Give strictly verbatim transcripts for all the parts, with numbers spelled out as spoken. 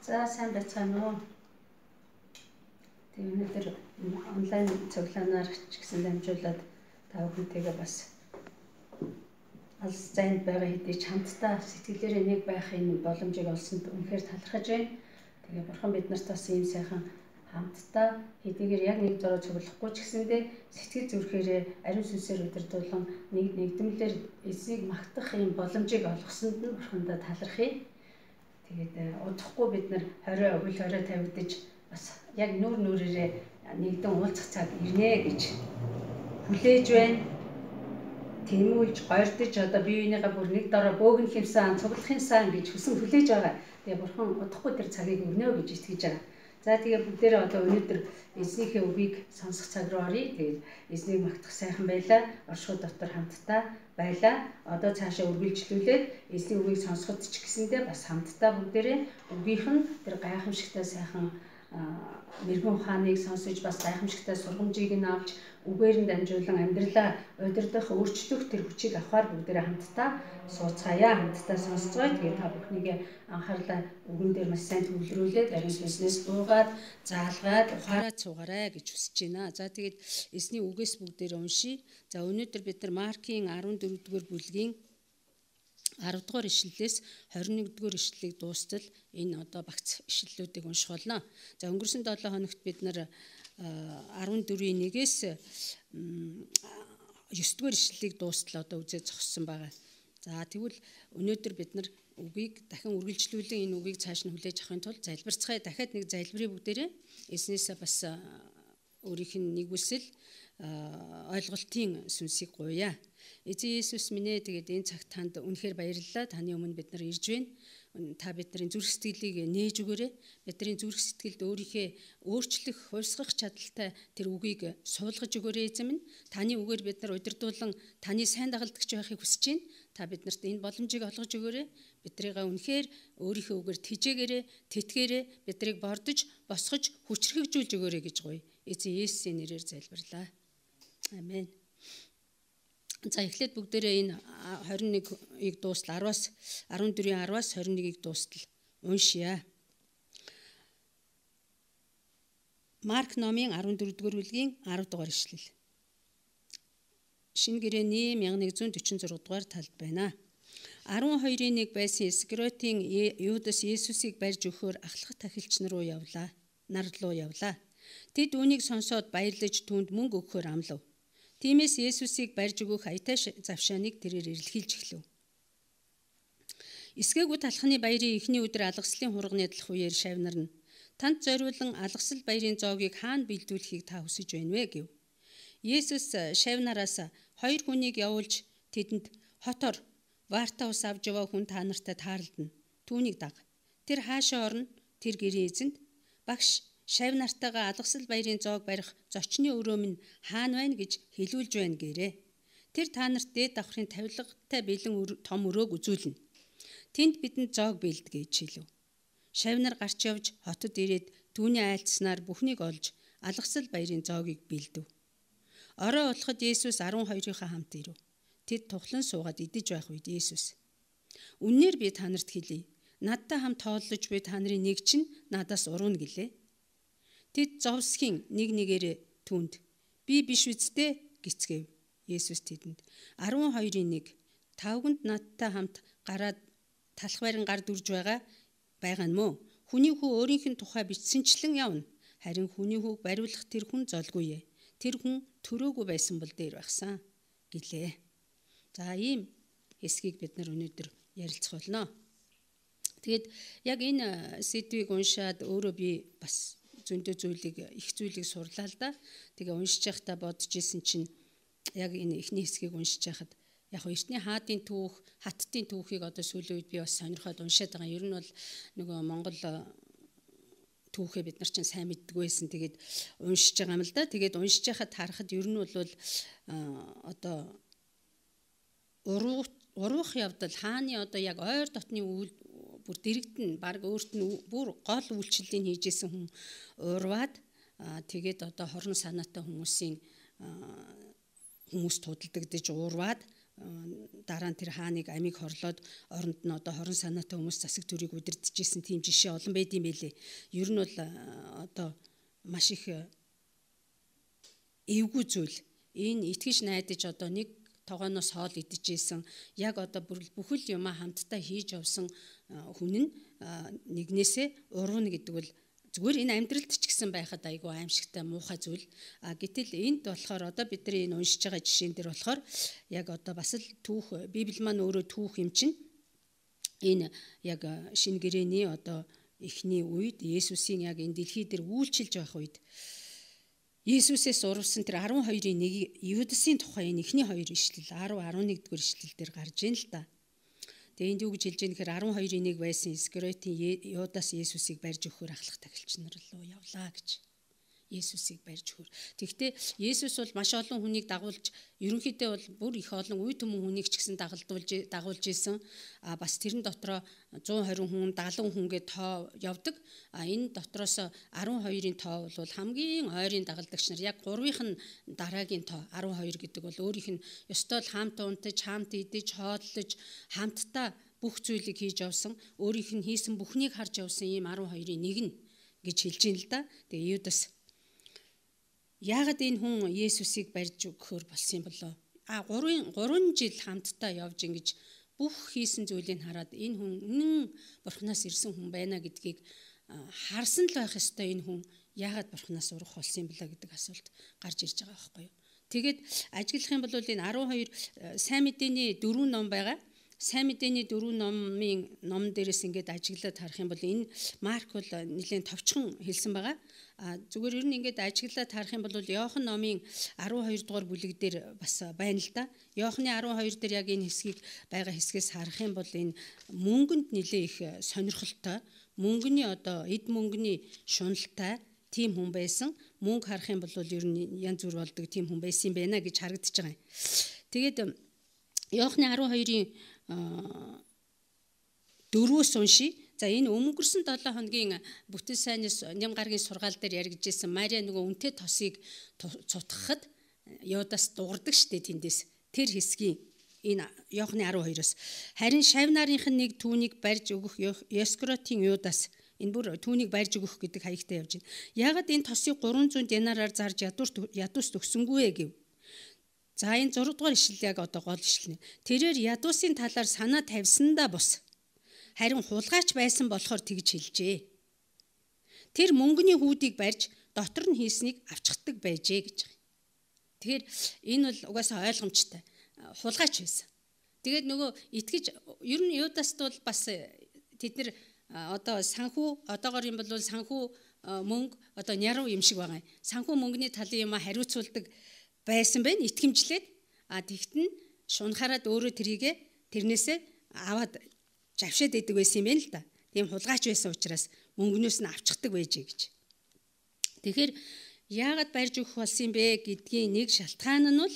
За сайн байцгаана уу. Тэгээ өнөөдөр онлайн цуглаанаар ч гэсэн дамжуулаад та бүхэнтэйгээ бас алс зайд байгаа хэдий ч хамтдаа сэтгэлээрээ нэг байхын боломжийг олсонд үнэхээр талархаж байна. Тэгээ бурхан бид нарт бас ийм сайхан хамтдаа хэдийгээр яг нэг дөрөв цуглахгүй ч гэсэндээ сэтгэл зүрхээрээ ариун сүнсээр удирдуулан нэг нэгдмэлээр эзнийг магтах ийм боломжийг олгосонд нь бурхандаа талархъя. Тэгээд удахгүй бид нар хорой үл хорой тавигдаж бас яг нүүр нүрээрээ нэгдэн уулзах цаг ирнэ гэж хүлээж байна. Тэмүүлж гойрдож одоо бие биенийгээ бүр нэг дорой бөөгн хэмсэн цуглахын сан гэж хүсэн хүлээж байгаа. Тэгээ бурхан удахгүй тэр цагийг өгнө гэж итгэж байгаа. За тэгээ бүгдээрээ одоо өнөөдөр эзнийхээ үгийг сонсох цаг руу оръё. Тэгээд эзнийг магтах сайхан байлаа. Оршихуй дотор хамтдаа байлаа. Одоо цаашаа үргэлжлүүлээд эзний үгийг сонсоход ч гэсэндээ бас хамтдаа бүгдээрээ үгийнх нь тэр гайхамшигтай сайхан мэрэгэн ухааныг сонсож бас гайхамшигтай сургамжийг нь авч үгээр нь дамжуулан амьдралаа удирдах, өөрчлөх тэр хүчийг авахар бүгдээрээ хамтдаа сууцгаая, хамтдаа сонсцгоё. Тэгээд та бүхнийгээ анхаарлаа үгэн дээр маш сайн төвлөрүүлээд ариун сүнснээс дуугаад, заалгаад, ухаараад суугаарай гэж хүсэж байна. За тэгээд эзний үгээс бүгдээрээ уншийе. За өнөөдөр бид нар Маркийн арван дөрөвдүгээр бүлгийн аравдугаар ишлэлээс хорин нэгдүгээр ишлэлийг дуустал энэ одоо багц ишлэлүүдийг унших болно. За өнгөрсөн долоо хоногт бид нар арван дөрвийн нэгээс есдүгээр ишлэлийг дуустал одоо үзээ зогссон байгаа. За тэгвэл өнөөдөр бид нар үгийг дахин үргэлжлүүлэн энэ үгийг цааш нь хүлээж авахын тулд залбирцгаая. Дахиад нэг залбирыг бүгдээрээ эзнээсээ бас өөрийнх нь нэгүсэл ойлголтын сүнсийг гуйя. Эзэн Есүс минь ээ, тэгээд энэ цагт танд үнэхээр баярлалаа. Таны өмнө бид нар ирж байна. Та бидний зүрх сэтгэлийг нээж өгөөрэй. Бидний зүрх сэтгэлд өөрийнхөө өөрчлөх, хувьсгах чадaltaй тэр үгийг суулгаж өгөөрэй эзэн минь. Таны үгээр бид нар удирдуулан таны сайн дагалдагч байхыг хүсэж байна. Та биднэрт энэ боломжийг олгож өгөөрэй. Биднийг үнэхээр өөрийнхөө үгээр тэжээгээрэй, тэтгээрэй, биднийг бордож, босгож, хүчрхэгжүүлж өгөөрэй гэж гуй. Эзэн Есүсийн нэрээр залбирлаа. Амен. За эхлээд бүгдээрээ энэ хорин нэгийг дуустал араваас арван дөрвийн араваас хорин нэгийг дуустал уншия. Марк номын арван дөрөвдүгээр бүлгийн арав дугаар ишлэл. Шинэ гэрээний мянга нэг зуун дөрвөн зураг дугаар талд байна. арван хоёрын нэг байсан Искариотын Юдас Есүсийг барьж өгөхөөр ахлах тахилч нар руу явлаа. Нар руу явлаа. Тэд үүнийг сонсоод баярлаж түүнд мөнгө өгөхөөр амлав. Тиймээс Есүсийг барьж өгөх аятай завшааныг тэрээр эрэлхийлж эхлэв. Эсгээгүй талхны баярын эхний өдөр алгаслын хурганы далах үеэр шавнар нь танд зориулан алгасал баярын зоогийг хаана бэлдүүлэхийг та хүсэж байна вэ гэв. Есүс шавнараас хоёр хүнийг явуулж тэдэнд хотор варта ус авж яваа хүн та нартай таарлдана. Түүнийг даг. Тэр хаашаа орно? Тэр гэрийн эзэнд багш шавнартайгаа алгасал баярын зоог барих зочны өрөө минь хаана байна гэж хэлүүлж байна гэрээ. Тэр та нарт дээд давхрын тавилгатай бэлэн том өрөөг үзүүлнэ. Тэнд бидэнд зоог бэлдгээ гэж хэлв. Шавнар гарч явж хотод ирээд түүний айлтснаар бүхнийг олж алгасал баярын зоогийг бэлдэв. Орой болоход Есүс арван хоёрынхаа хамт ирэв. Тэд тухлан суугаад идэж байх үед Есүс: "Үннээр би та нарт хэлье. Надтай хамт тооллож буй та нарын нэг чинь надаас урууна" гэлээ. Тэд зовсхийн нэг нэгээрээ түүнд "Би биш үсттэй" гисгэв. Есүс тэдэнд арван хоёрын нэг тавганд надтай хамт гараад талах байран гар дүрж байгаа байгаа нь мөө. Хүний хүү өөрийнх нь тухай бичсэнчлэн явна. Харин хүний хүүг бариулах тэр хүн золгүй ээ. Тэр хүн төрөөгүй байсан бол дээр багсан гэлээ. За ийм хэсгийг бид нар өнөөдөр ярилцах болно. Тэгэд яг энэ сэдвийг уншаад өөрөө би бас зөндөө зүйлийг их зүйлийг сурлаа л да. Тэгээ уншиж байхдаа бодож исэн чинь яг энэ эхний хэсгийг уншиж байхад яг эртний хаадын түүх, хаттын түүхийг одоо сүүлийн үед би бас сонирхоод уншаад байгаа. Ер нь бол нөгөө Монгол түүхээ бид нар чинь сайн мэддэг байсан. Тэгээд уншиж байгаа юм л да. Тэгээд уншиж байхад харахад ер нь бол одоо уруух уруух явдал хааны одоо яг ойр дотны бүр дэрэгдэн баг өөрт нь бүр гол үйлчлэлийн хийжсэн хүн урваад тэгээд одоо хорон санаатай хүмүүсийн хүмүүс тудалдагдж урваад дараа нь тэр хааныг амийг хорлоод оронд нь одоо хорон санаатай хүмүүс засаг зүрийг удирдахжсэн тийм жишээ олон байд юм байлээ. Ер нь бол одоо маш их эвгүй зүйл. Энэ итгэж найдаж одоо нэг тогооноос хоол идчихсэн яг одоо бүхэл юмаа хамтдаа хийж явсан хүн нь нэгнээсээ урвна гэдэг бол зүгээр энэ амьдралд ч гэсэн байхад айгүй аимшигтай муухай зүйл. А гэтэл энд болохоор одоо бидний энэ уншиж байгаа жишээн дээр болохоор яг одоо бас л түүх Библи маань өөрөө түүх юм чинь энэ яг шинэ гэрээний одоо эхний үед Есүсийн яг энэ дэлхий дээр үйлчилж байх үед Есүсээс урвсан тэр арван хоёрын нэг Юдасын тухай энэ эхний хоёр ишлэл десять eleven дэх ишлэл дээр гарж ийн л да. Тэгээ энд юу гэж хэлж байгаа нөхөр арван хоёрын нэг байсан Искариотын Юдас Есүсийг барьж өгөхөөр ахлах тагилч нар руу явлаа гэж. Есүсийг барьж өгөхөөр. Тэгэхдээ Есүс бол маш олон хүнийг дагуулж ерөнхийдөө бол бүр их олон үе төмөн хүнийг ч гэсэн дагалдуулж дагуулж исэн. А бас тэрэн дотроо one twenty хүн, seventy хүнгээ тоо явдаг. А энэ дотроос арван хоёрын тоо бол хамгийн ойрын дагалдагч нар яг гурвынх нь дараагийн тоо арван хоёр гэдэг бол өөрийнх нь ёстой л хамт унтаж, хамт идэж, хооллож, хамтдаа бүх зүйлийг хийж явсан. Өөрийнх нь хийсэн бүхнийг харж явсан ийм арван хоёрын нэг нь гэж хэлж ийн л да. Тэгээ Юдас яагаад энэ хүн Есүсийг барьж өгөхөөр болсон юм болоо? А гурван жил хамтдаа явж ингэж бүх хийсэн зүйлийг хараад энэ хүн үнэн Бурханаас ирсэн хүн байна гэдгийг харсан л байх ёстой. Энэ хүн яагаад Бурханаас урах болсон юм болоо гэдэг асуулт гарч ирж байгаа байхгүй юу? Тэгээд ажиглах юм бол энэ арван хоёр сайн мэдээний дөрвөн ном байгаа. Сайн мэдээний дөрвөн номын ном дээрээс ингээд ажиглаад харах юм бол энэ Марк бол нэлээд товчхон хэлсэн байгаа. А зүгээр ер нь ингээд ажиглаад харах юм бол Иохан номын арван хоёр дугаар бүлэг дээр бас байна л да. Иохны арван хоёр дээр яг энэ хэсгийг байгаа хэсгээс харах юм бол энэ мөнгөнд нэлээ их сонирхолтой, мөнгөний одоо эд мөнгөний шуналтай тийм хүн байсан. Мөнгө харах юм бол ер нь янз бүр болдог тийм хүн байсан юм байна гэж харагдаж байгаа юм. Тэгээд Иохны арван хоёрын дөрвөөс уншия. За энэ өнгөрсөн seven хоногийн бүтэц сайнаас ням гарагийн сургаал дээр яригджсэн Мария нөгөө үнтэй тосыг цутгахад Юдас дуурдаг штэ тэндээс. Тэр хэсгийн энэ Иохны арван хоёроос харин шавь нарынх нь нэг түүнийг барьж өгөх Искариотын Юдас энэ бүр түүнийг барьж өгөх гэдэг хаягтай явж байна. Яагаад энэ тосыг three hundred динараар зарж ядуус төгсөнгүй ээ гэв. За энэ six дугаар ишлэл яг одоо гол ишлэл. Тэрээр ядуусын талаар санаа тавьсандаа бус. Харин хулгайч байсан болохоор тэгж хэлжээ. Тэр мөнгөний хүүдийг барьж дотор нь хийснийг авчхдаг байжээ гэж байгаа. Тэгэхээр энэ бол угаасаа ойлгомжтой. Хулгайч байсан. Тэгээд нөгөө итгэж ер нь Юдаст бол бас тэд нэр одоо санхүү одоогоор юм бол санхүү мөнгө одоо няруу юм шиг байгаа юм. Санхүү мөнгөний талын юм хариуцуулдаг байсан байна итгэмжлээд. А тэгтэн шунхаараад өөрөө тэрийгэ тэрнээсээ аваад завшаад идэг байсан юм байна л да. Тийм хулгайч байсан учраас мөнгнөөс нь авчдаг байжээ гэж. Тэгэхээр яагаад барьж өгөх болсон юм бэ гэдгийн нэг шалтгаан нь бол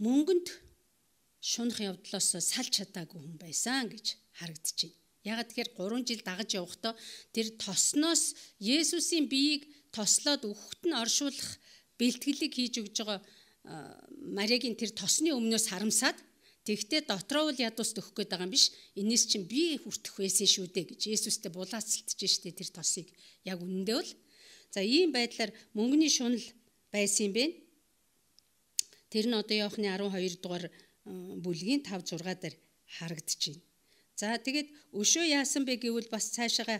мөнгөнд шунах явдлаас салж чадаагүй хүн байсан гэж харагдаж байна. Яагаад тэгэхээр three жил дагаж явахдаа тэр тосноос Есүсийн биеийг тослоод өгөхөд нь оршуулах бэлтгэлийг хийж өгж байгаа Мариагийн тэр тосны өмнөөс харамсаад тэгтээ дотроо бол ядуус төгөх гээд байгаа юм биш. Энэс чинь би хүртэх байсан шүү дээ гэж Есүстэй булаацалтж штэ тэр тосыг. Яг үнэндээ бол за ийм байдлаар мөнгөний шунал байсан юм бэ. Тэр нь одоо Иохны арван хоёр дугаар бүлгийн five six дээр харагдаж байна. За тэгээд өшөө яасан бэ гэвэл бас цаашаага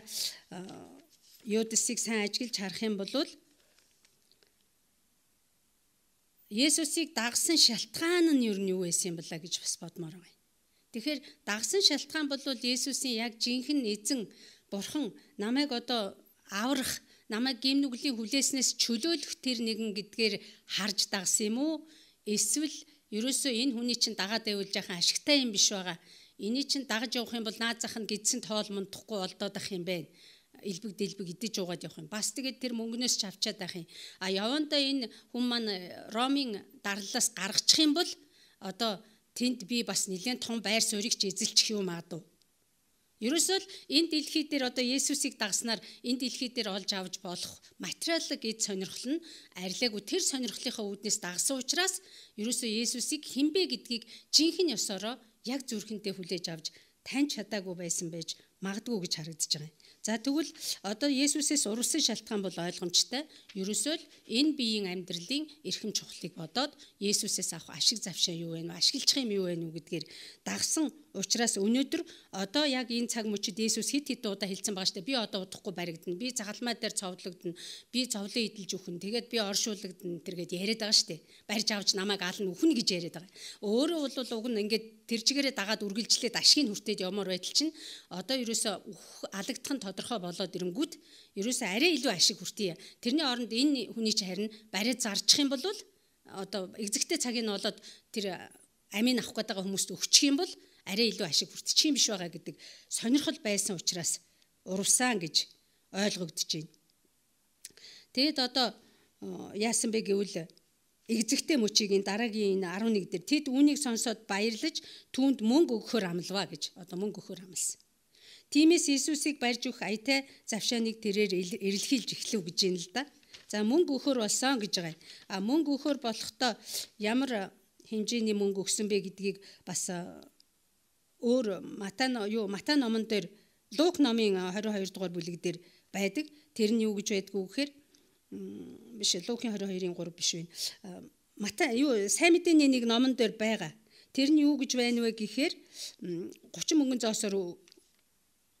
Юдасыг сайн ажиглаж харах юм бол Есүсийг дагсан шалтгаан нь юу нь юу байсан юм бэлаа гэж бас бодмоор байна. Тэгэхээр дагсан шалтгаан бол Есүсийн яг жинхэнэ эзэн Бурхан намайг одоо аврах, намайг гэм нүглийн хүлээснээс чөлөөлөх тэр нэгэн гэдгээр харж дагсан юм уу? Эсвэл ерөөсөө энэ хүний чинь дагаад байвал жаахан ашигтай юм биш байгаа. Эний чинь дагаж явах юм бол наад зах нь гидсэн тоол мундахгүй олдоод ах юм байна. Илбэг дэлбэг идэж уугаад явах юм. Бас тэгээд тэр мөнгнөөс ч авчаад байх юм. А явандаа энэ хүн маань Ромын дарлалаас гаргачих юм бол одоо тэнд би бас нэлээд том байр суурийг ч эзэлчих юм аа дуу. Ерөөсөө л энэ дэлхий дээр одоо Есүсийг дагснаар энэ дэлхий дээр олж авч болох материалын эд сонирхол нь арилаагүй тэр сонирхлынхаа үүднээс дагсан учраас ерөөсөө Есүсийг хинбэ гэдгийг жинхэнэ ёсороо яг зүрхэнтэй хүлээж авч таньж чадаагүй байсан байж магадгүй гэж харагдаж байгаа юм. За тэгвэл одоо Есүсээс урвсан шалтгаан бол ойлгомжтой. Ерөөсөө л энэ биеийн амьдралын эрхэм чухлыг бодоод Есүсээс авах ашиг завшаа юу вэ? Ашиглах юм юу вэ гэдгээр дагсан учраас өнөөдөр одоо яг энэ цаг мөчид Есүс хит хит удаа хэлсэн байгаа шүү дээ. Би одоо удахгүй баригдана. Би загалмай дээр цовдлогдно. Би цовлон идэлж өгнө. Тэгээд би оршуулгадна тэргээд яриад байгаа шүү дээ. Барьж авч намайг ална үхнэ гэж яриад байгаа. Өөрөө бол уг нь ингээд тэр чигээрээ дагаад үргэлжлээд ашгийг хүртээд явмаар байтал чинь одоо ерөөсө алагдах нь тодорхой болоод ирэнгүүт ерөөсө арай илүү ашиг хүртээ. Тэрний оронд энэ хүний чинь харин бариад зарчих юм бол одоо экзэгтэй цагийг нь болоод тэр амийн авах гээд байгаа хүмүүст өгчих юм бол арай илүү ашиг хүртчих юм биш байгаа гэдэг сонирхол байсан учраас урвсан гэж ойлгогдож байна. Тэгэд одоо яасан бэ гэвэл экзэгтэй мөчийн дараагийн энэ арван нэг дээр тэд үүнийг сонсоод баярлаж түүнд мөнгө өгөхөр амлаваа гэж одоо мөнгө өгөхөр амласан. Тиймээс Иесусыг барьж өгөх аятай завшааныг тэрээр эрэлхийлж эхлэв гэж юм л да. За мөнгө өгөхөр болсон гэж байгаа. А мөнгө өгөхөр болохдоо ямар хэмжээний мөнгө өгсөн бэ гэдгийг бас өөр Матай юу Матай номон дээр Лук номын двадцать two дугаар бүлэг дээр байдаг. Тэр нь юу гэж байдгүй гэхээр биш Лукийн двадцать two-ийн three биш вэ. Матай юу сайн мэдээний нэг номон дээр байгаа. Тэр нь юу гэж байна вэ гэхээр thirty мөнгөн зоосоор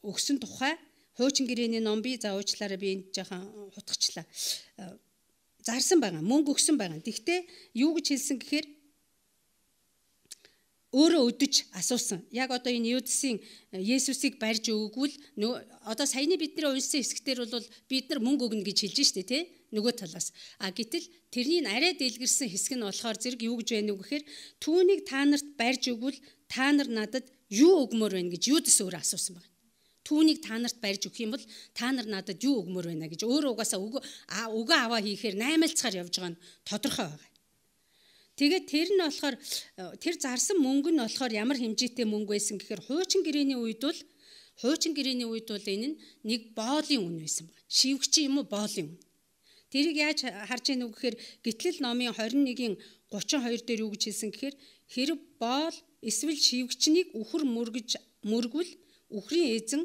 өгсөн тухай хуучин гэрээний ном би за уучлаарай би энд жоохон хутгачлаа. Зарсан байгаа. Мөнгө өгсөн байгаа. Тэгвэл юу гэж хэлсэн гэхээр өөрөө өдөж асуусан. Яг одоо энэ Юдасын Есүсийг барьж өгвөл одоо саяны бидний уншсан хэсгээр бол бид нар мөнгө өгнө гэж хэлж штэ тий нөгөө талаас. А гэтэл тэрний арай дэлгэрсэн хэсэг нь болохоор зэрэг юу гэж байна вэ гэхээр түүнийг та нарт барьж өгвөл та нар надад юу өгмөр байна гэж Юдас өөрөө асуусан байна. Түүнийг та нарт барьж өгөх юм бол та нар надад юу өгмөр байна гэж өөрөө угаасаа өгөө өгөө аваа хийхээр наймаалцгаар явж байгаа нь тодорхой байна. Тэгээд тэр нь болохоор тэр зарсан мөнгө нь болохоор ямар хэмжээтэй мөнгө байсан гэхээр хуучин гэрээний үед бол хуучин гэрээний үед бол энэ нь нэг боолын үн байсан байна. Шивгчийн юм уу боолын үн. Тэрийг яаж харж ийнү гэхээр Гитлэл номын twenty-one-ийн thirty-two дээр юу гэж хэлсэн гэхээр хэрэг боол эсвэл шивгчнийг үхэр мөргөж мөргвөл үхрийн эзэн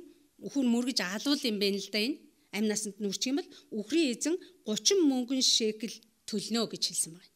үхэр мөргөж алуул юм байна л да энэ амь насанд нүрчих юм бол үхрийн эзэн thirty мөнгөн шекел төлнө гэж хэлсэн байна.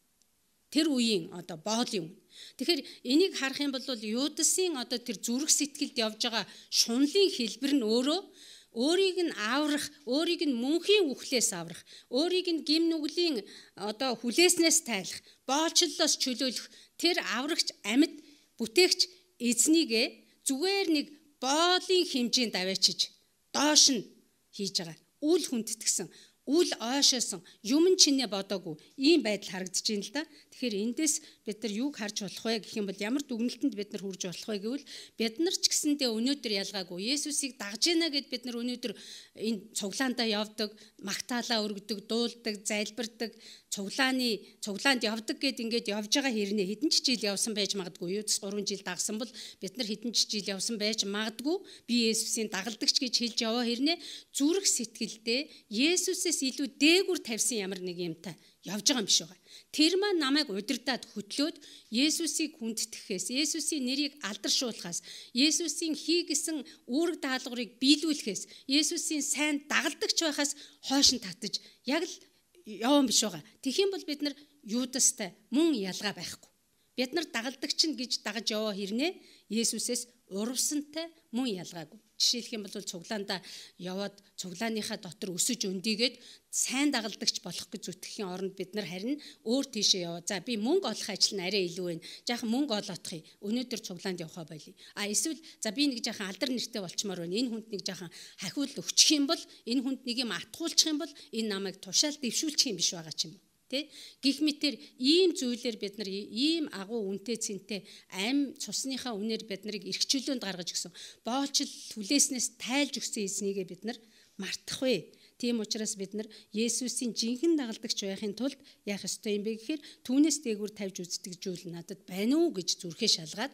Тэр үеийн одоо боолын үн. Тэгэхээр энийг харах юм бол Юдасын одоо тэр зүрх сэтгэлд явж байгаа шунлын хэлбэр нь өөрөө өөрийг нь аврах, өөрийг нь мөнхийн үхлээс аврах, өөрийг нь гим нүглийн одоо хүлээснээс тайлах, боолчлолоос чөлөөлөх тэр аврагч амьд бүтээгч эзнийгээ зүгээр нэг боолын хэмжээнд аваачиж доош нь хийж байгаа. Үл хүндэтгсэн үл ойшоосон юм чинээ бодоогүй ийм байдал харагдаж байна л да. Тэгэхээр эндээс бид нар юуг харж болох вэ гэх юм бол ямар дүгнэлтэнд бид нар хүрж болох вэ гэвэл бид нар ч гэсэндээ өнөөдөр ялгаагүй Есүсийг дагж ийна гэд бид нар өнөөдөр энэ цуглаандаа явдаг, магтаалаа өргөдөг, дуулдаг, залбирдаг, цуглааны цуглаанд явдаг гэд ингээд явж байгаа хэрнээ хэдэн ч жил явсан байж магадгүй. Юудас three жил дагсан бол бид нар хэдэн ч жил явсан байж магадгүй. Би Есүсийн дагалдагч гэж хэлж яваа хэрнээ зүрх сэтгэлдээ Есүсээс илүү дээгүр тавьсан ямар нэг юмтай явж байгаа юм биш үү? Тэр маань намайг удирдаад хөтлөөд Есүсийг хүндэтгэхээс, Есүсийн нэрийг алдаршуулахаас, Есүсийн хийгсэн үүрэг даалгаврыг биелүүлэхээс, Есүсийн сайн дагалдагч байхаас хойш нь татаж яг л явсан биш байгаа. Тэгхийн бол бид нар Юдастай мөн ялгаа байхгүй. Бид нар дагалдагч нь гэж дагаж яваа хэрнээ Есүсээс урвсантай мөн ялгаагүй. Жишээлх юм бол цуглаандаа яваад цуглааныхаа дотор өсөж өндийгээд сайн дагалдагч болох гэж зүтгэхийн оронд бид нар харин өөр тийшээ яваа. За би мөнгө олох ажил нь арай илүү байна. Жаахан мөнгө олоодохыг өнөөдөр цуглаанд явахаа болъё. А эсвэл за би нэг жаахан алдар нэртэй болчмоор байна. Энэ хүнд нэг жаахан хахиул өгчих юм бол, энэ хүнд нэг юм атгуулчих юм бол энэ намайг тушаал дэвшүүлчих юм биш байгаа ч юм уу. Тэ гих мэтэр ийм зүйлээр бид нар ийм агуу үнэтэй цэнтэй ам цусныхаа үнээр бид нарыг эрхчлөөнд гаргаж өгсөн. Боолчл хүлээснээс тайлж өгсөн эзнийг бид нар мартахгүй. Тийм учраас бид нар Есүсийн жинхэнэ дагалдагч байхын тулд яах ёстой юм бэ гэхээр түүнээс дээгүүр тавьж үздэг зүйл надад байна уу гэж зүрхээ шалгаад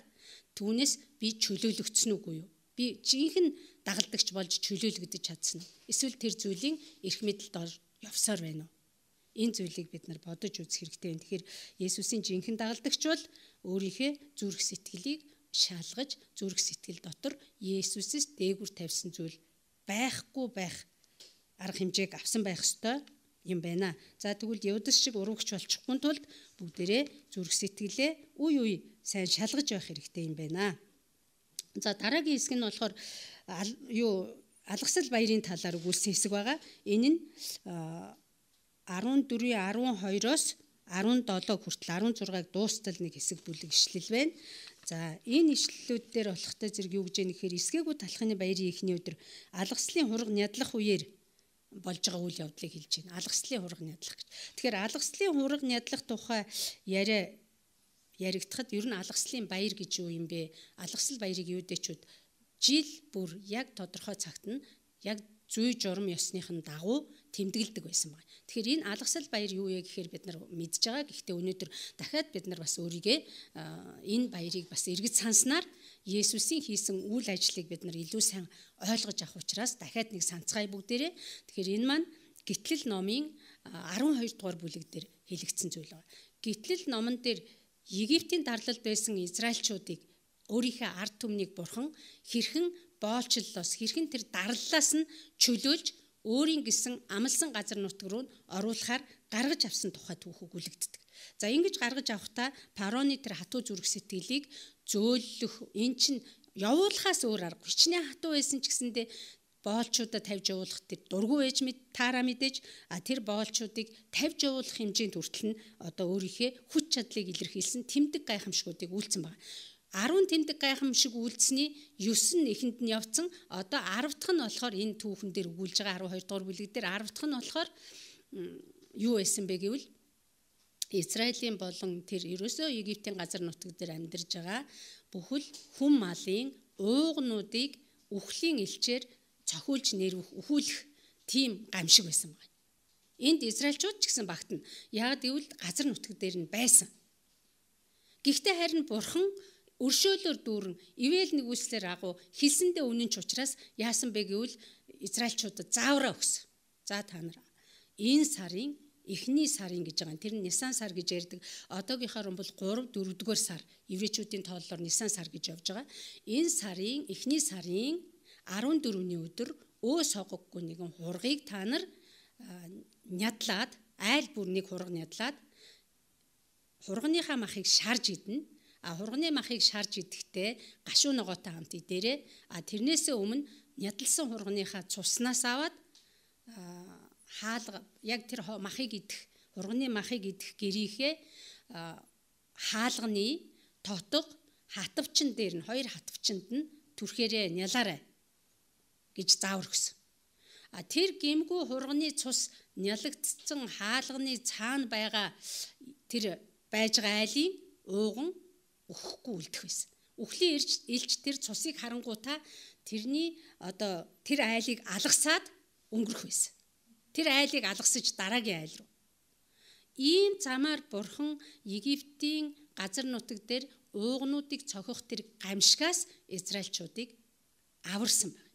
түүнээс би чөлөөлөгдсөн үгүй юу? Би жинхэнэ дагалдагч болж чөлөөлөгдөж чадсан уу? Эсвэл тэр зүйлийн эрх мэдэлд явсаар байна уу? Энэ зүйлийг бид нар бодож үзэх хэрэгтэй байна. Тэгэхээр Есүсийн жинхэнэ дагалдагч бол өөрийнхөө зүрх сэтгэлийг шалгаж, зүрх сэтгэл дотор Есүсээс дээгүр тавьсан зүйл байхгүй байх арга хэмжээг авсан байх ёстой юм байна. За тэгвэл Юдас шиг уруугч болчихгүй тулд бүгдээрээ зүрх сэтгэлээ үе үе сайн шалгаж байх хэрэгтэй юм байна. За дараагийн хэсэг нь болохоор юу алгасал баярын талаар өгүүлсэн хэсэг байгаа. Энэ нь14-ийн арван хоёроос арван долоо хүртэл арван зургааг дуустал нэг хэсэг бүлэг ишлэл байна. За энэ ишлэлүүд дээр болохтой зэрэг юу гэж яах гэхээр эсгээгүй талхны баярын эхний өдөр алгаслын хураг нядлах үеэр болж байгаа үйл явдлыг хэлж байна. Алгаслын хураг нядлах гэж. Тэгэхээр алгаслын хураг нядлах тухай яриа яригдахад ер нь алгаслын баяр гэж юу юм бэ? Алгасал баярыг юудэчүүд жил бүр яг тодорхой цагт нь яг зүй журам ёсныхын дагуу тэмдэглэдэг байсан байна. Тэгэхээр энэ алгасал баяр юу вэ гэхээр бид нар мэдж байгаа. Гэхдээ өнөөдөр дахиад бид нар бас өөрийгөө энэ баярыг бас эргэж санснаар Есүсийн хийсэн үйл ажлыг бид нар илүү сайн ойлгож авах учраас дахиад нэг санацгаая бүгдээрээ. Тэгэхээр энэ маань Гитлэл номын арван хоёр дугаар бүлэг дээр хэлэгдсэн зүйл байна. Гитлэл номон дээр Египтийн дарлалд байсан израильчуудыг өөрийнхөө ард түмнийг бурхан хэрхэн боолчлолоос хэрхэн тэр дарлалаас нь чөлөөлж өөрийн гэсэн амлсан газар нутг руу оруулахаар гаргаж авсан тухай түүх өгүүлэгддэг. За ингэж гаргаж авахдаа пароны тэр хатуу зүрх сэтгэлийг зөөлөх эн чинь явуулахаас өөр арга. Хичнээн хатуу байсан ч гэсэндээ боолчуудаа тавьж явуулах тэр дургүй ээж мэд таараа мэдээж а тэр боолчуудыг тавьж явуулах хэмжээнд хүртэл нь одоо өөрийнхөө хүч чадлыг илэрхийлсэн тэмдэг гайхамшгуудыг үйлцэн байна. арван тэмдэг гайхамшиг үйлдсэний девс нь эхэнд нь явцсан. Одоо арав дахь нь болохоор энэ түүхэн дээр өгүүлж байгаа арван хоёр дугаар бүлэг дээр арав дахь нь болохоор юу байсан бэ гэвэл Израилийн болон тэр ерөөсөө Египтийн газар нутаг дээр амьдарж байгаа бүхэл хүм малын уугнуудыг үхлийн элчээр цохиулж нэрвэх өхүүлэх тийм гамшиг байсан байна. Энд израильчууд ч гэсэн багтана. Яг гэвэл газар нутаг дээр нь байсан. Гэхдээ харин бурхан өршөөлөөр дүүрэн ивэл нэгүслэр агуу хэлсэндээ үнэн ч учраас яасан бэ гэвэл израильчуудад заавраа өгсөн. За та нар энэ сарын эхний сарын гэж байгаа. Тэр нь Нисан сар гэж ярьдаг. Одоогийнхоор бол гурав дөрөвдүгээр сар. Еврейчүүдийн тооллоор Нисан сар гэж явж байгаа. Энэ сарын эхний сарын арван дөрөвний өдөр өөс хогоггүй нэгэн хургийг та нар нядлаад айл бүр нэг хураг нядлаад хургийнхаа махыг шарж идэнэ. А хурганы махыг шарж идэхдээ гашуу ногоотой хамт идээрээ. А тэрнээсээ өмнө нядалсан хургийнхаа цуснаас аваад хаалга яг тэр махыг идэх хурганы махыг идэх гэрийнхээ хаалганы тотго хатвчин дээр нь хоёр хатвчинд нь түрхээрээ нялаарай гэж заавар өгсөн. А тэр гимгүү хурганы цус нялагдсан хаалганы цаана байгаа тэр байж байгаа айлын ууган өхгүй үлдэх байсан. Үхлийн элч тэр цусыг харангуутаа тэрний одоо тэр айлыг алгасаад өнгөрөх байсан. Тэр айлыг алгасаж дараагийн айл руу. Ийм замаар бурхан Египтийн газар нутаг дээр уугнуудыг цохих тэр гамшигаас израильчуудыг аварсан байна.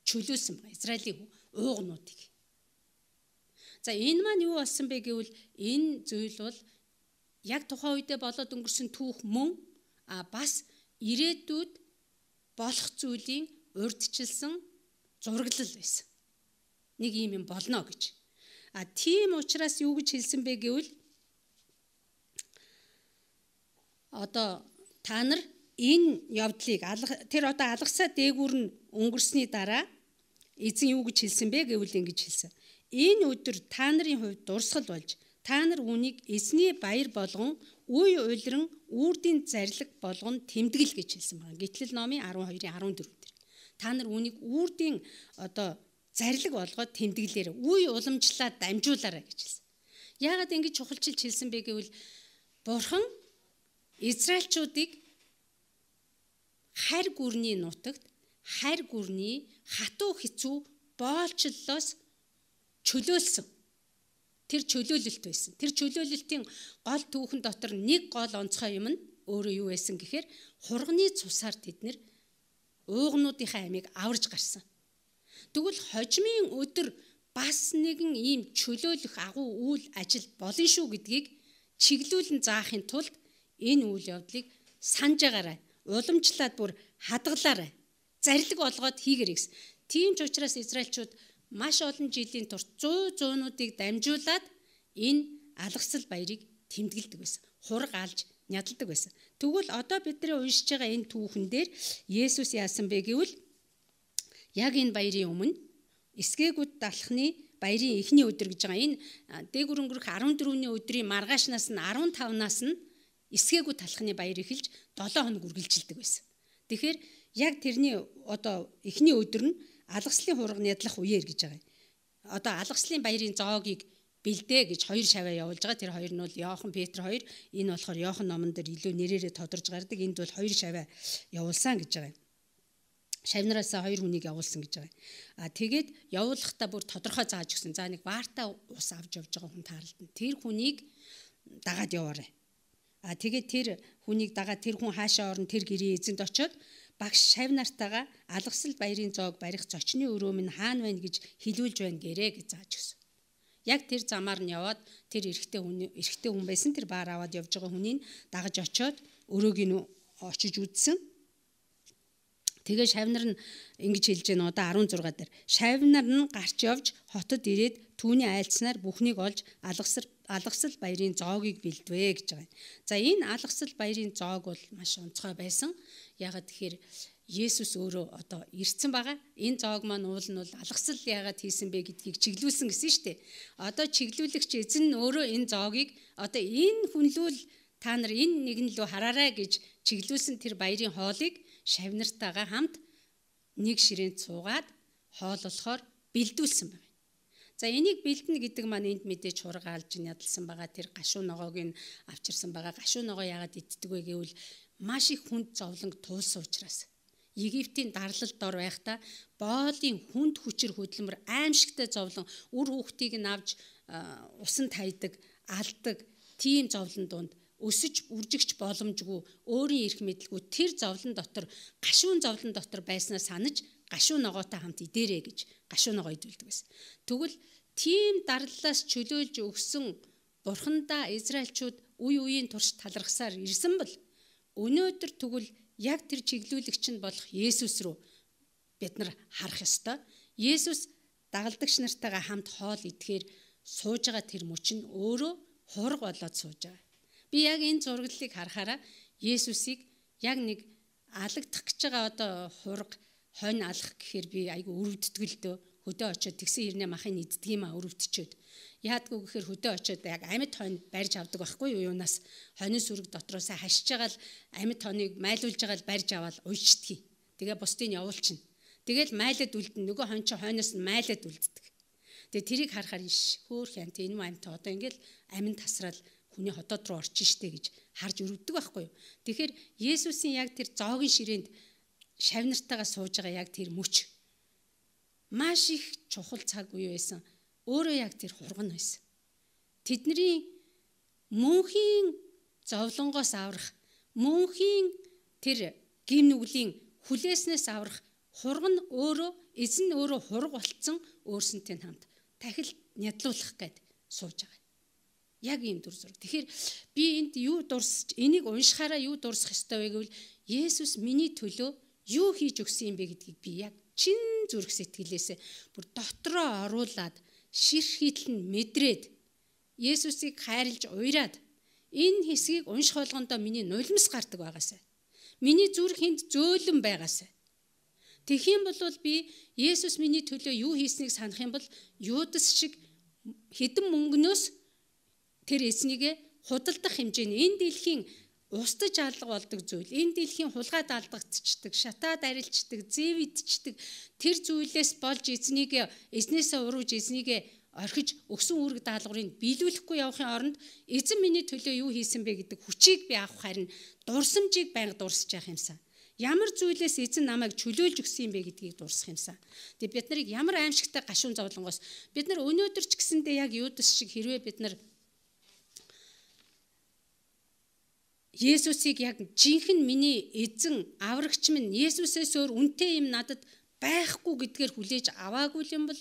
Чөлөөсөн байна. Израилийн уугнуудыг. За энэ маань юу болсон бэ гэвэл энэ зүйл бол яг тухайн үедээ болоод өнгөрсөн түүх мөн а бас ирээдүйд болох зүйлийн урьдчилсан зураглал байсан. Нэг юм юм болно гэж. А тийм учраас юу гэж хэлсэн бэ гэвэл одоо та нар энэ явдлыг тэр одоо алгасаа дээгүүр нь өнгөрсний дараа эзэн юу гэж хэлсэн бэ гэвэл ингэж хэлсэн. Энэ өдөр та нарын хувьд дурсгал болж та нар үүнийг эзний баяр болгон үе уйлран үрдийн зарлиг болгон тэмдэглэл гэж хэлсэн байна. Гитлэл номын арван хоёрын арван дөрөв дээр. Та нар үүнийг үрдийн одоо зарлиг болгоод тэмдэглэлээр үе уламжлаад дамжуулаарай гэж хэлсэн. Яагаад ингэж чухалчилж хэлсэн бэ гэвэл бурхан израильчуудыг харь гүрний нутагт харь гүрний хатуу хэцүү боолчлолоос чөлөөлсөн. Тэр чөлөөлөлт байсан. Тэр чөлөөлөлтийн гол түүхэн дотор нэг гол онцгой юм нь өөрөө юу байсан гэхээр хурганы цусаар тэд нэр уугнуудынхаа амийг аварж гарсан. Тэгвэл хожимын өдөр бас нэгэн ийм чөлөөлөх агуу үйл ажил болно шүү гэдгийг чиглүүлэн заахын тулд энэ үйл явдлыг санаж агаарай. Уламжлаад бүр хадгалаарай. Зарлиг болгоод хийгэрэй гэсэн. Тийм ч учраас Израильчууд маш олон жилийн турш зуун зуунуудыг дамжуулаад энэ алгасал баярыг тэмдэглэдэг байсан. Хураг алж нядалдаг байсан. Тэгвэл одоо бидний уншиж байгаа энэ түүхэн дээр Есүс яасан бэ гэвэл яг энэ баярын өмнө эсгээгүүд далхны баярын эхний өдөр гэж байгаа. Энэ дээгүр өнгөрөх арван дөрөвний өдрийн маргаашнаас нь арван тавнаас нь эсгээгүүд талхны баяр эхэлж долоон хоног үргэлжилдэг байсан. Тэгэхээр яг тэрний одоо эхний өдөр нь алгаслын хураг нядлах үеэр гэж байгаа. Одоо алгаслын баярын зоогийг бэлдээ гэж хоёр шаваа явуулж байгаа. Тэр хоёр нь бол Иохан, Петр хоёр. Энэ болохоор Иохан номон дээр илүү нэрээрээ тодорж гардаг. Энд бол хоёр шаваа явуулсан гэж байгаа. Шавнараас хоёр хүнийг явуулсан гэж байгаа. А тэгээд явуулахдаа бүр тодорхой зааж өгсөн. За нэг ваартаа ус авч явж байгаа хүн таарлтна. Тэр хүнийг дагаад яваарай. А тэгээд тэр хүнийг дагаад тэр хүн хаашаа орно, тэр гэрийн эзэнд очиод багш шавнартайгаа алгасал баярын зоог барих зочны өрөө минь хаана байна гэж хэлүүлж байна гэрээ гэж зааж өгсөн. Яг тэр замаар нь яваад тэр эрэгтэй хүн эрэгтэй хүн байсан тэр баар аваад явж байгаа хүнийг дагаж очиод өрөөг нь очиж үзсэн. Тэгээ шавнар нь ингэж хэлж байна одоо арван зургаа дээр. Шавнар нь гарч явж хотод ирээд түүний айлцнаар бүхнийг олж алгасар алгасал баярын зоогийг бэлдвэ гэж байгаа. За энэ алгасал баярын зоог бол маш онцгой байсан. Ягаад тэгэхээр Есүс өөрөө одоо ирсэн байгаа. Энэ зоог маань уул нь бол алгасал яагаад хийсэн бэ гэдгийг чиглүүлсэн гэсэн шүү дээ. Одоо чиглүүлэгч эзэн нь өөрөө энэ зоогийг одоо энэ хүнлүүл та нар энэ нэгэн лөө хараарай гэж чиглүүлсэн тэр баярын хоолыг шавнартайгаа хамт нэг ширээнд суугаад хоол болохоор бэлдүүлсэн байна. За энийг бэлдэнэ гэдэг маань энд мэдээж хураг алж ядалсан байгаа тэр гашуун ногоог нь авчирсан байгаа. Гашуун ногоо яагаад иддэг вэ гэвэл маш их хүнд зовлон туулсан учраас. Египтийн дарлалд дор байхдаа боолын хүнд хүчээр хөдөлмөр аимшигтай зовлон үр хүүхдийг нь авч усан тайдаг, алдаг тийм зовлон донд өсөж үржигч боломжгүй өөрийн эрх мэдэлгүй тэр зовлон дотор гашуун зовлон дотор байснаа санаж гашуун ногоотой хамт идээрэй гэж гашуун ногоо идүүлдэг байсан. Тэгвэл тийм дарлалаас чөлөөлж өгсөн бурхандаа Израильчууд үе үеийн турш талархсаар ирсэн бол өнөөдөр тэгвэл яг тэр чиглүүлэгч нь болох Есүс рүү бид нар харах ёстой. Есүс дагалдагч нартайгаа хамт хоол идэхээр сууж байгаа тэр мөч нь өөрөө хураг болоод сууж байгаа. Би яг энэ зураглалыг харахаараа Есүсийг яг нэг алагдах гэж байгаа одоо хураг хонь алах гэхээр би айгу өрөвддөг л дөө. Хөдөө очиод тэгсэн хэрнээ махыг иддэг юм а өрөвдчихэд. Яадгүй гэхээр хөдөө очиод яг амьд хонь барьж авдаг байхгүй юу юунаас хонин сүрэг дотроос хашиж байгаа л амьд хоныг майлуулж байгаа л барьж аваад уйчдгийг. Тэгээ бусдыг явуулчихна. Тэгэл майлаад үлдэн нөгөө хонь чи хойноос нь майлаад үлддэг. Тэгээ тэрийг харахаар иш хөөх янт энэ юм амьд одоо ингээл амин тасрал хүний хотод руу орчих штэ гэж харж өрөвдөг байхгүй юу. Тэгэхээр Есүсийн яг тэр зоогийн ширээнд шавнартайгаа сууж байгаа яг тэр мөч маш их чухал цаг үе байсан. Өөрөө яг тэр хурган байсан. Тэдний мөнхийн зовлонгоос аврах, мөнхийн тэр гим нүглийн хүлээснээс аврах хурган өөрөө эзэн өөрөө хург болцсон өөрсөнтэй хамт тахил нядлуулах гээд сууж байгаа. Яг ийм дүр зураг. Тэгэхээр би энд юу дурсаж энийг уншихаараа юу дурсах ёстой вэ гэвэл Есүс миний төлөө юу хийж өгсөн юм бэ гэдгийг би яг чин зүрх сэтгэлээсээ бүр дотроо оруулаад ширх хитлэн мэдрээд Есүсийг хайрлж уйраад энэ хэсгийг унших болгондоо миний нулимс гардаг байгаасай. Миний зүрх энд зөөлөн байгаасай. Тэгэх юм бол би Есүс миний төлөө юу хийснийг санах юм бол Юдас шиг хэдэн мөнгнөөс тэр эзнийг худалдах хэмжээний энэ дэлхийн устж алга болдог зүйл, энэ дэлхийн хулгайд алдагдчихдаг, шатаад арилждаг, зэвидчдэг тэр зүйлээс болж эзнийг эзнээсээ урууж эзнийг орхиж өгсөн үүрэг даалгаврыг биелүүлэхгүй явахын оронд эзэн миний төлөө юу хийсэн бэ гэдэг хүчийг би авах харин дурсамжийг байнга дурсаж явах юмсан. Ямар зүйлээс эзэн намайг чөлөөлж өгсөн юм бэ гэдгийг дурсах юмсан. Тэгээ бид нарыг ямар аимшигтай гашуун зовлонгоос бид нар өнөөдөр ч гэсэндээ яг Юдас шиг хэрвээ бид нар Есүсийг яг жинхэнэ миний эзэн аврагч минь Есүсээс өөр үнэтэй юм надад байхгүй гэдгээр хүлээж аваагүй юм бол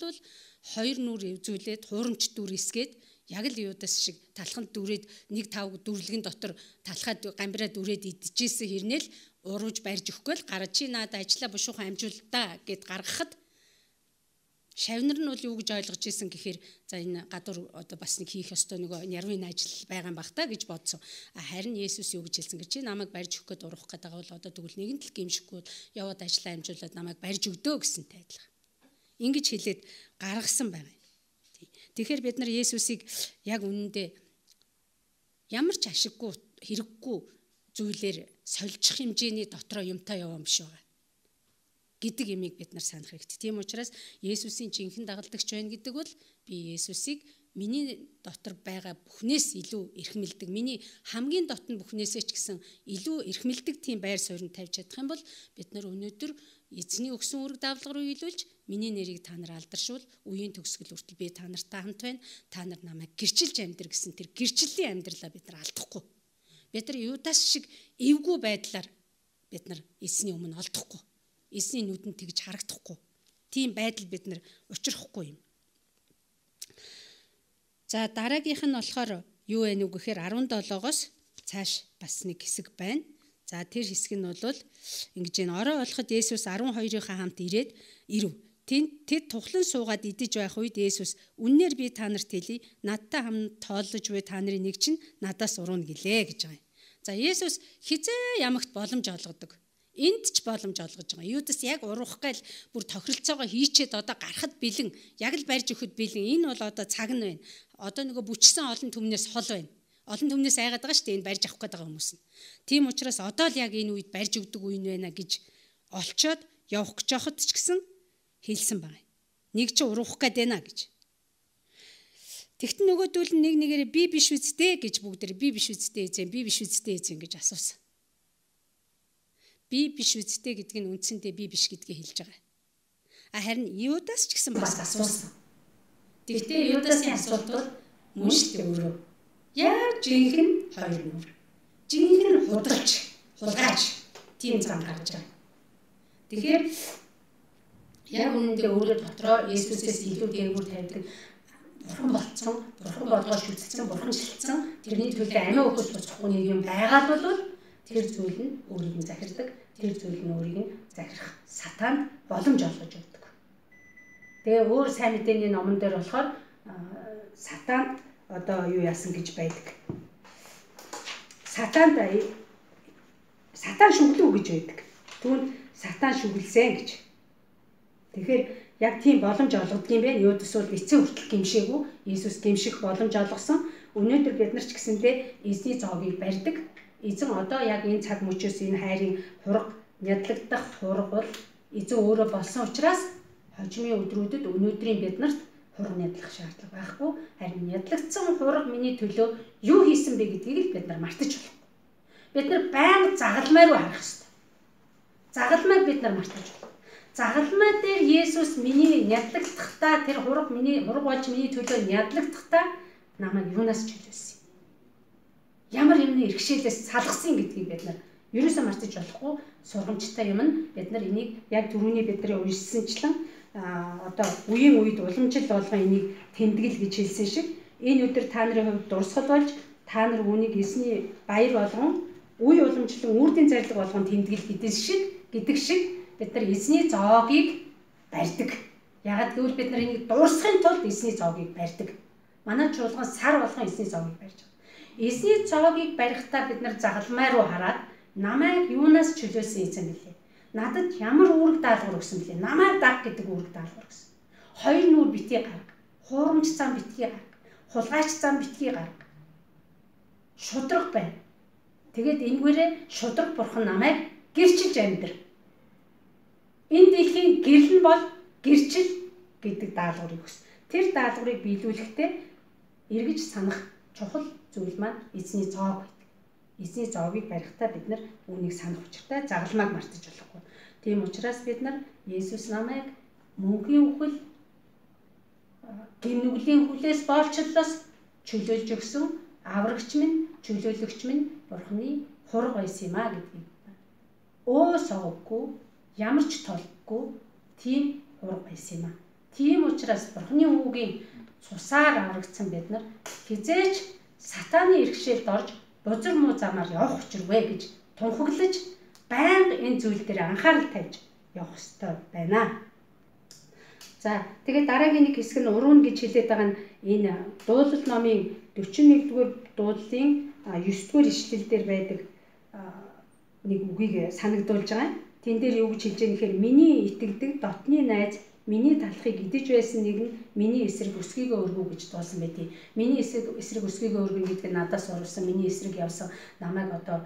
хоёр нүр эвзүүлээд хуурамч дүр эсгээд яг л Юдас шиг талханд дүрээд нэг тав дүрлэгэн дотор талхаад гамбираа дүрээд идчихсэн хэрнээл урууж барьж өгөхгүй л гараа чи надад ажилла бушуухан амжуулдаа гэд гаргахад шавнар нь бол юу гэж ойлгож исэн гэхээр за энэ гадуур одоо бас нэг хийх ёстой нөгөө нярвын ажил байгаа юм бах та гэж бодсон. Харин Есүс юу гэж хэлсэн гэж чи намайг барьж өгөх гээд урах гэдэг бол одоо тэгвэл нэгэн тал гимшихгүй яваад ажиллаа амжуулаад намайг барьж өгдөө гэсэнтэй адилхан. Ингэж хэлээд гаргасан байгаа. Тэгэхээр бид нар Есүсийг яг үнэндээ ямар ч ашиггүй хэрэггүй зүйлээр сольжих хэмжээний дотроо юмтай яваа юм биш байгаа гэдэг имийг бид нар санах хэрэгтэй. Тийм учраас Есүсийн жинхэнэ дагалдагч байна гэдэг бол би Есүсийг миний дотор байгаа бүхнээс илүү эрхмэлдэг, миний хамгийн дотн бүхнээсээ ч гэсэн илүү эрхмэлдэг тийм байр суурь тавьж чадах юм бол бид нар өнөөдөр эзний өгсөн үүрэг даавлага руу илүүлж миний нэрийг та нар алдаршуул, үеийн төгсгөл хүртэл би та нартай хамт байна. Та нар намайг гэрчилж амьдр гэсэн тэр гэрчлийн амьдралаа бид нар алдахгүй. Бид нар Юдас шиг эвгүй байдлаар бид нар эзний өмнө олдохгүй. Эзний нүдэнд тэгж харагдахгүй. Тийм байдал бид нар учрахгүй юм. За дараагийнх нь болохоор юу вэ нүг гэхээр арван долоогоос цааш бас нэг хэсэг байна. За тэр хэсэг нь бол ингэж энэ орой болоход Есүс арван хоёрынхаа хамт ирээд ирэв. Тэд тухлан суугаад идэж байх үед Есүс үннээр би та нарт хэлье, надтай хамт тооллож буй та нарын нэг чинь надаас урууна гэлээ гэж байгаа юм. За Есүс хизээ ямагт боломж олгодог. Энд ч боломж олгож байгаа. Юдас яг уруух гайл бүр тохиролцоогоо хийчээд одоо гарахад бэлэн, яг л барьж өгөхөд бэлэн. Энэ бол одоо цаг нь байна. Одоо нөгөө бүчсэн олон түмнээс хол байна. Олон түмнээс айгаад байгаа шүү дээ энэ барьж авах гээд байгаа хүмүүс нь. Тийм учраас одоо л яг энэ үед барьж өгдөг үе байна гэж олцоод явах гэж явахд ч гэсэн хэлсэн байна. Нэг чи уруух гээд байна гэж. Тэгтэн нөгөөдөл нь нэг нэгээрээ би биш үсттэй гэж бүгдээр би биш үсттэй эзэн, би биш үсттэй эзэн гэж асуусан. Би биш үсттэй гэдэг нь үндсэндээ би биш гэдгийг хэлж байгаа. А харин Юдас ч гэсэн бас асуусан. Тэгтээ Юдасын асуулт бол мөн шүү дээ өөрөө. Яг жинхэнэ хоёр нүр. Жинхэнэ худалч, хулгайч тийм зам гарч байгаа. Тэгэхээр яг үнэндээ өөрөө дотроо Есүсээс илүү дээгүүр тавьдаг бурхан болцсон, бурхан болгож үзсэн, бурхан шилжсэн тэрний төлөө амиа өгөх боцохгүй нэг юм байгаад бол тэр зүйл нь өөрийг нь захирдаг, тэр зүйл нь өөрийг нь захирах сатан боломж олгож өгдөг. Тэгээ өөр сайн мэдээний номон дээр болохоор сатан одоо юу яасан гэж байдаг. Сатанд сатан шүглүү гэж байдаг. Түүнд сатан шүглсэн гэж. Тэгэхээр яг тийм боломж олгодог юм байна. Юдас бол эцэг хүртэл гимшээгүй. Иесус гимших боломж олгосон. Өнөөдөр бид нар ч гэсэндээ эзний зоогийг барьдаг. Эзэн одоо яг энэ цаг мөчөөс энэ хайрын хураг нядлагдах хураг бол эзэн өөрөө болсон учраас хожимын өдрүүдэд өнөөдрийн биднэрт хураг нядлах шаардлага байхгүй. Харин нядлагдсан хураг миний төлөө юу хийсэн бэ гэдгийг л бид нар мартаж болохгүй. Бид нар байнга загалмай руу харах ёстой. Загалмайг бид нар мартаж болохгүй. Загалмай дээр Есүс миний нядлагдахтаа тэр хураг миний хураг болж миний төлөө нядлагдахтаа намайг юунаас чөлөөсөн. Ямар юмны иргэшээлээс салгасан гэдгийг бид нар ерөөсөө мартаж болохгүй. Сургамжтай юм нь бид нар энийг яг түрүүний бидний уншсанчлан одоо үеийн үед уламжил болгон энийг тэмдэглэл гэж хэлсэн шиг энэ өдөр та нарын хувьд дурсгал болж та нар үүнийг эсний баяр болгон үе уламжлан үрдийн зарлиг болгон тэмдэглэл гэдэг шиг гэдэг шиг бид нар эзний зоогийг барьдаг. Ягаад гэвэл бид нар энийг дуурсахын тулд эзний зоогийг барьдаг. Манай чуулган сар болгон эзний зоогийг барьж байгаа. Эзний зоогийг барихтаа бид нар загалмай руу хараад намайг юунаас чөлөөсөн эзэн бэлээ. Надад ямар үүрэг даалгавар өгсөн бэлээ. Намайг даг гэдэг үүрэг даалгавар өгсөн. Хоёр нүур битгий гарга, хуурамч зам битгий гарга, хулгайч зам битгий гарга. Шудраг байна. Тэгээд энэгээрээ шудраг бурхан намайг гэрчилж амьдр. Энэ дэлхийн гэрэл нь бол гэрчил гэдэг даалгаврыг өгсөн. Тэр даалгаврыг биелүүлэхдээ эргэж санах чухал зүйл маань эзний зоог байдаг. Эзний зоогийг барихтаа бид нар үүнийг санах учиртай загалмайг мартаж болохгүй. Тийм учраас бид нар Есүс намайг мөнхийн үхэл гимнүглийн хүлээс боолчлолоос чөлөөлж өгсөн аврагч минь, чөлөөлөгч минь Бурханы хураг байсан юм а гэдгийг өө соггүй, ямар ч толгүй тийм хураг байсан юм аа. Тийм учраас Бурхны үгийн цусаар аврагдсан бид нар хизээч сатааны иргэшээлд орж бузар муу замаар явах учиргүй гэж тунхаглаж байнга энэ зүйл дээр анхаарал тавьж явах ёстой байна. За тэгээд дараагийн нэг хэсэг нь урууна гэж хэлээд байгаа нь энэ дуулал номын дөрвөн нэгдүгээр дуулалын ёс дугаар ишлэл дээр байдаг нэг үгийг санагдуулж байгаа. Тэн дээр юу гэж хэлж байгаа нэхээр миний итгэдэг дотны найз миний талхыг идэж байсан нэг нь миний эсрэг өсгийгөө өргөө гэж дуулсан байдیں۔ Миний эсрэг эсрэг өсгийгөө өргөн гэдэг нь надаас урвсан, миний эсрэг явсан намайг одоо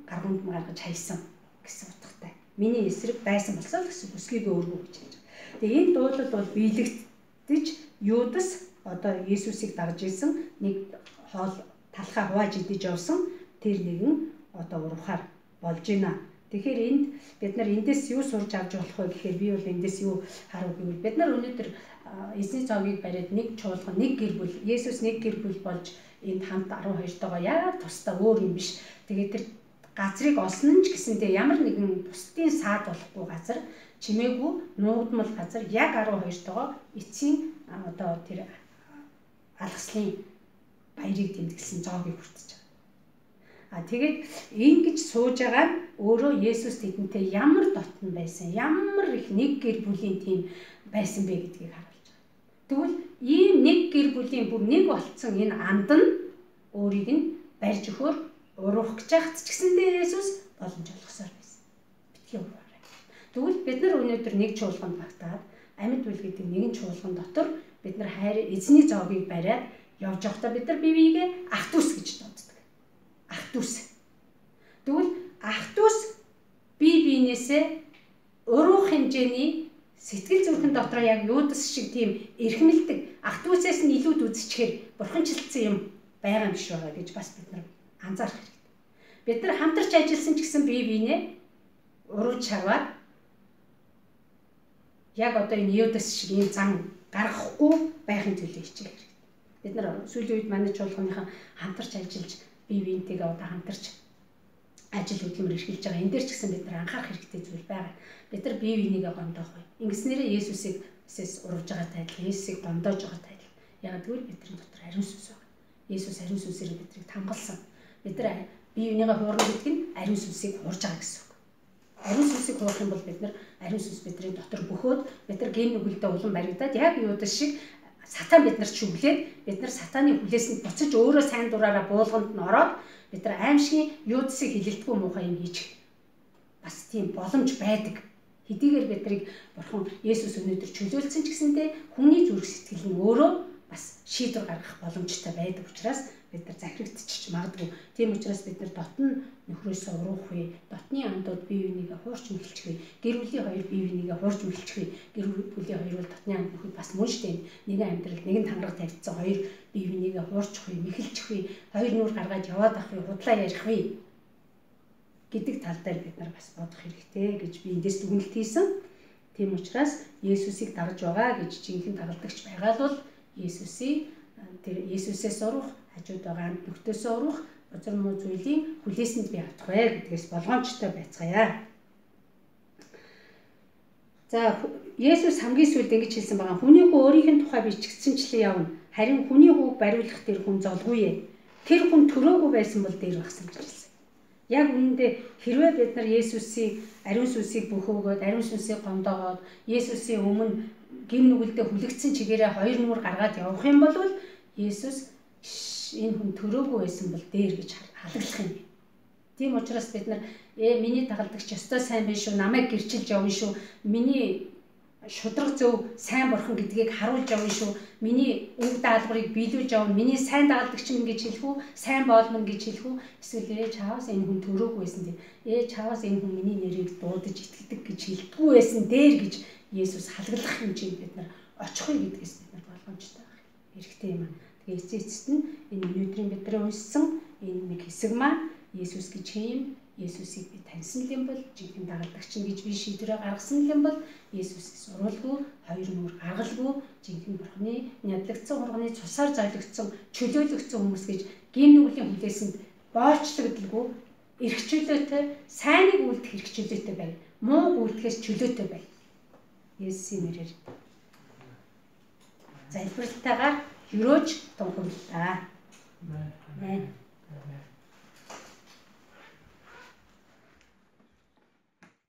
гаргамд гаргаж хайсан гэсэн утгатай. Миний эсрэг байсан болсоо гэсэн өсгийгөө өргөө гэж хэлж байгаа. Тэгээ энэ дуулал бол биелэгдэж Юдас одоо Есүсийг дагж ирсэн нэг хоол талхаа хувааж идэж явсан тэр нэгэн одоо урвахаар болж байна. Тэгэхээр энд бид нар эндээс юу сурч авч болох вэ гэхээр би бол эндээс юу харав гэвэл бид нар өнөөдөр эзний цогийг бариад нэг чуулган нэг гэр бүл Есүс нэг гэр бүл болж энд хамт арван хоёртойгоо яагаад тусдаа өөр юм биш. Тэгээд тэр газрыг олсон ч гэсэндээ ямар нэгэн бусдын саад болохгүй газар чимээгүй нуугдмал газар яг арван хоёртойгоо эцсийн одоо тэр алгаслын баярыг тэмдэглэсэн зоогийг хүртэж байгаа. А тэгээд ингэж сууж байгаа өөрөө Есүс тэдэнтэй ямар дотн байсан, ямар их нэг гэр бүлийн тийм байсан бэ гэдгийг харуулж байгаа. Тэгвэл ийм нэг гэр бүлийн бүр нэг болцсон энэ анд нь өөрийг нь барьж өгөхөөр уруух гэж байхад ч гэсэндээ Есүс боломж олгосоор байсан. Битгий ураарай. Тэгвэл бид нар өнөөдөр нэг чуулганд багтаад амьд үйл гэдэг нэгэн чуулган дотор бид нар хайр эзний зоогийг бариад явж байхдаа бид нар бие биегээ ах дүүс гэж дууддаг. Ах дүүс. Тэгвэл ах дүүс бие биенээсээ уруух хэмжээний сэтгэл зүрхэн дотор яг Юдас шиг тийм эрхмэлдэг ах дүүсээс нь илүүд үзчихээр бурханчлалцсан юм байгаа юм биш байгаа гэж бас бид нар анзаарах хэрэгтэй. Бид нар хамтарч ажилласан ч гэсэн бие биенээ урууж шарваад яг одоо энэ Юдас шиг ийм зам гаргахгүй байхын төлөө хичээх хэрэгтэй. Бид нар сүүлийн үед манай чуулганыхан хамтарч ажиллаж бие биентэйгээ одоо хамтарч ажил хөдөлмөр эрхэлж байгаа. Энд дээр ч гэсэн бид нар анхаарах хэрэгтэй зүйл байгаа. Бид нар бие бинийгээ гомдоох бай. Ингэснээрээ Есүсийг эсэс урвж байгаатай адил, Есүсийг гомдоож байгаатай адил. Яг тэгвэл бидний дотор ариун сүнс байна. Есүс ариун сүнсээр биднийг хамгаалсан. Бид нар бие бинийгээ хуурна гэдэг нь ариун сүнсийг хуурж байгаа гэсэн үг. Ариун сүнсийг хуурах юм бол бид нар ариун сүнс бидний дотор бөхөөд бид нар ген нүгэлдээ улам баригдаад яг Юдас шиг сатан бид нар чүглээд бид нар сатаны хүлээсэнд буцаж өөрөө сайн дураараа буулганд нь ороод бид нар аимшигын Юдасыг хилэлтгүй муухай юм хийж бас тийм боломж байдаг. Хэдийгээр биднийг бурхан Есүс өнөөдөр чөлөөлсөн ч гэсэндээ хүний зүрх сэтгэл нь өөрөө бас шийдвэр гаргах боломжтой байдаг учраас бид нар захирагдчих магадгүй. Тийм учраас бид нар дотн нөхрөөсөө уруух вэ, дотны андууд бие бинийгээ хуурч мэлчих вэ, гэр бүлийн хоёр бие бинийгээ хуурч мэлчих вэ, гэр бүлийн хоёр бол дотны анд нөхөд бас мөн штэ. Нэгэн амьдрал, нэгэн тангараг тавьдсан хоёр бие бинийгээ хуурчих вэ, мэхэлчих вэ, хоёр нүур гаргаад яваад авах вэ, худлаа ярих вэ гэдэг тал дээр бид нар бас бодох хэрэгтэй гэж би эндээс дүгнэлт хийсэн. Тийм учраас Есүсийг дагж байгаа гэж жинхэнэ дагалдагч байгаа бол Есүсийг тэр Есүсээс уруух, хажууд байгаа амт нөхдөсөө уруух, бузар муу зүйлийн хүлээсэнд би автах вэ гэдгээс болгоомжтой байцгаая. За Есүс хамгийн сүүлд ингэж хэлсэн байгаа. Хүний хүү өөрийнх нь тухай бичигдсэнчлэн явна. Харин хүний хүүг бариулах тэр хүн золгүй ээ. Тэр хүн төрөөгүй байсан бол дээр багсан гэж хэлсэн. Яг үүндээ хэрвээ бид нар Есүсийн ариун сүнсийг бөхөөгөөд, ариун сүнсийг гомдоогоод, Есүсийн өмнө гин нүгэлдээ хүлэгдсэн чигээрээ хоёр нүур гаргаад явах юм бол Есүс энэ хүн төрөөгүй байсан бол дээр гэж халаглах юм. Тийм учраас бид нар ээ миний дагалдагч ёстой сайн биш шүү, намайг гэрчилж явна шүү, миний шудраг зөв сайн бурхан гэдгийг харуулж явна шүү, миний үг даалгаврыг биелүүлж явна, миний сайн дагалдагч минь гэж хэлэх үү, сайн боолмон гэж хэлэх үү, эсвэл ээ чаавас энэ хүн төрөөгүй байсан дээ, ээ чаавас энэ хүн миний нэрийг дуудаж итгэдэг гэж хэлдэггүй байсан дээр гэж Есүс халаглах юм чинь бид нар очихгүй гэдгээс бид нар болгоомжтой байх хэрэгтэй юм. Тэгээ эцээ эцэст нь энэ өнөөдрийн бидний уншсан энэ нэг хэсэг маань Есүс гэж хэм, Есүсийг би таньсан юм бол жинхэнэ дагалдагч гэж би шийдвэрээ гаргасан юм бол Есүсээс уралгүй, хоёр нүур гаргалгүй, жинхэнэ бурхны нядлагдсан хурганы цусаар зойлогдсон, чөлөөлөгдсөн хүмүүс гэж гин нүглийн хүлээсэнд боочлогдолгүй, эрх чөлөөтэй, сайныг үлдэх эрх чөлөөтэй бай. Муу үлдэхээс чөлөөтэй бай. Есүсийн нэрээр залбиралтайгаар хөрөөж тунхаглаа. Амен.